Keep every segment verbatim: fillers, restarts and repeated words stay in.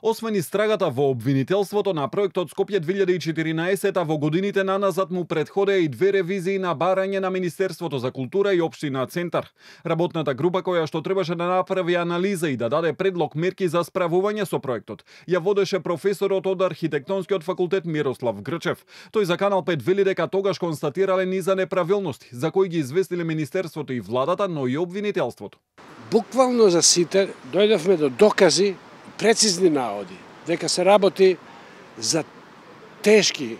Освен истрагата во обвинителството на проектот Скопје две илјади и четиринаесета, во годините наназад му претходеа и две ревизии на барање на Министерството за култура и Општина Центар. Работната група која што требаше да направи анализа и да даде предлог мерки за справување со проектот, ја водеше професорот од архитектонскиот факултет Мирослав Грчев. Тој за Канал пет вели дека тогаш констатирале низа неправилности, за кои ги известиле Министерството и владата, но и обвинителството. Буквално за сите дојдовме до докази, прецизни наводи, дека се работи за тешки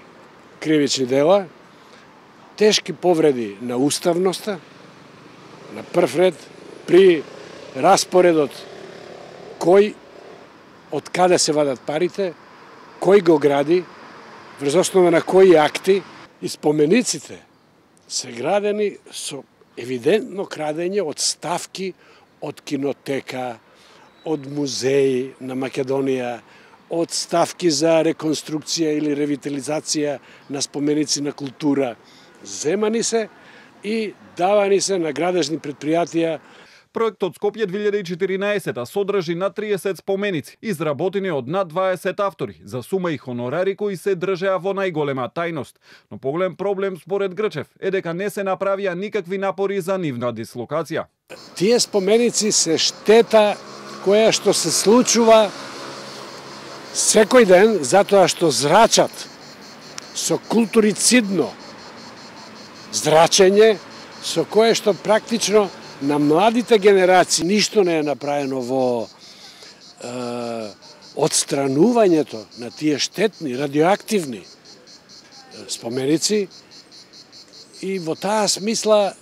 кривични дела, тешки повреди на уставноста, на прв ред, при распоредот кој, од каде се вадат парите, кој го гради, врз основа на кои акти, и спомениците се градени со евидентно крадење од ставки од кинотека, од музеи на Македонија, од ставки за реконструкција или ревитализација на споменици на култура. Земани се и давани се на градежни предпријатија. Проектот Скопје две илјади и четиринаесета содржи над триесет споменици, изработени од над дваесет автори, за сума и хонорари кои се држеа во најголема тајност. Но поголем проблем според Грчев е дека не се направија никакви напори за нивна дислокација. Тие споменици се штета која што се случува секој ден, затоа што зрачат со културицидно зрачење, со кое што практично на младите генерации ништо не е направено во е, отстранувањето на тие штетни, радиоактивни споменици, и во таа смисла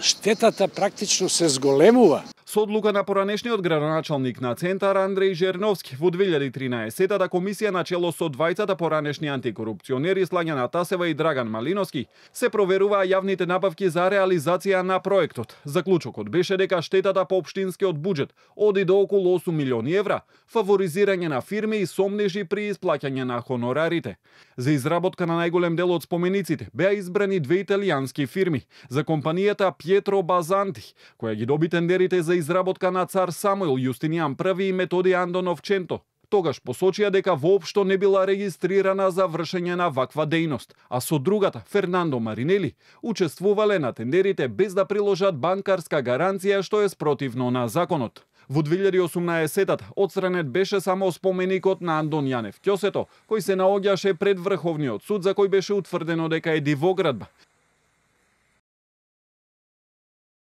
штетата практично се зголемува. Со одлука на поранешниот градоначалник на Центар Андреј Жерновски во две илјади и тринаесета комисија на чело со двајцата поранешни антикорупционери Слаѓана Тасева и Драган Малиновски се проверуваа јавните набавки за реализација на проектот. Заклучокот беше дека штетата по општинскиот буџет оди до околу осум милиони евра, фаворизирање на фирми и сомнежи при исплаќање на хонорарите. За изработка на најголем дел од спомениците беа избрани две италијански фирми. За компанијата Пјетро Базанти, која ги доби тендерите за изработка на Цар Самуил Јустинијан први и Методи Андоновченто, тогаш посочија дека воопшто не била регистрирана за вршење на ваква дејност, а со другата, Фернандо Маринели, учествувале на тендерите без да приложат банкарска гаранција, што е спротивно на законот. Во две илјади и осумнаесета отстранет беше само споменикот на Андон Јанев Ќосето, кој се наоѓаше пред Врховниот суд, за кој беше утврдено дека е дивоградба.